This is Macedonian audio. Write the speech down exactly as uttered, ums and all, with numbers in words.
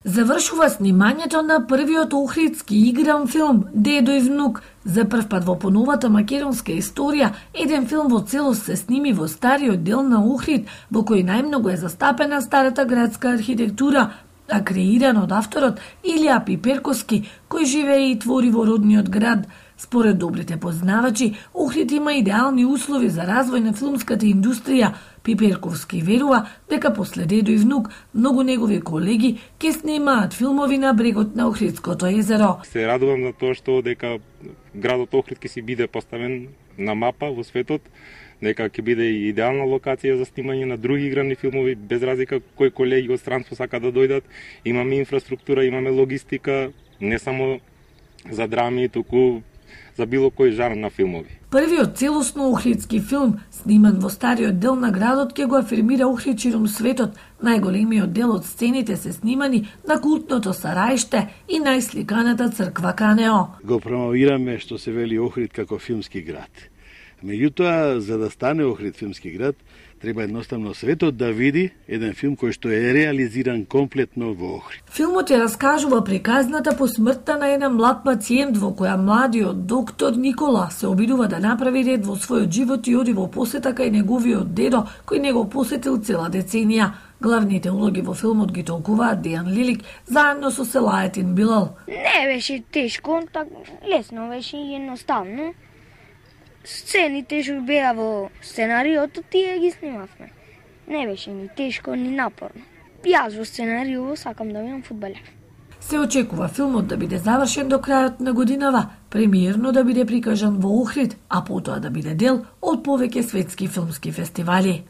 Завршува снимањето на првиот охридски игран филм Дедо и внук. За прв пат во поновата македонска историја, еден филм во целост се сними во стариот дел на Охрид, во кој најмногу е застапена старата градска архитектура, а креиран од авторот Илија Пиперковски, кој живее и твори во родниот град. Според добрите познавачи, Охрид има идеални услови за развој на филмската индустрија. Пиперковски верува дека после Дедо и внук многу негови колеги ќе снимаат филмови на брегот на Охридското езеро. Се радувам за тоа што дека градот Охрид ќе си биде поставен на мапа во светот, дека ќе биде и идеална локација за снимање на други играни филмови, без разлика кои колеги од странство сака да дојдат. Имаме инфраструктура, имаме логистика, не само за драми, туку за било кој жанр на филмови. Првиот целосно охридски филм, сниман во стариот дел на градот, ќе го афирмира Охрид ширум светот. Најголемиот дел од сцените се снимани на култното Сараиште и најсликаната црква Канео. Го промовираме што се вели Охрид како филмски град. Меѓутоа, за да стане Охрид филмски град, треба едноставно светот да види еден филм кој што е реализиран комплетно во Охрид. Филмот ја раскажува приказната по смртта на еден млад пациент во која младиот доктор Никола се обидува да направи ред во својот живот и оди во посета кај неговиот дедо, кој не го посетил цела деценија. Главните улоги во филмот ги толкуваат Дејан Лилик заедно со Селаетин Билал. Не беше тешко, так лесно беше и едноставно. Сцените што беа во сценариото, тие ги снимавме. Не беше ни тешко, ни напорно. Јас во сценарио сакам да бидам фудбалер. Се очекува филмот да биде завршен до крајот на годинава, премиерно да биде прикажан во Охрид, а потоа да биде дел од повеќе светски филмски фестивали.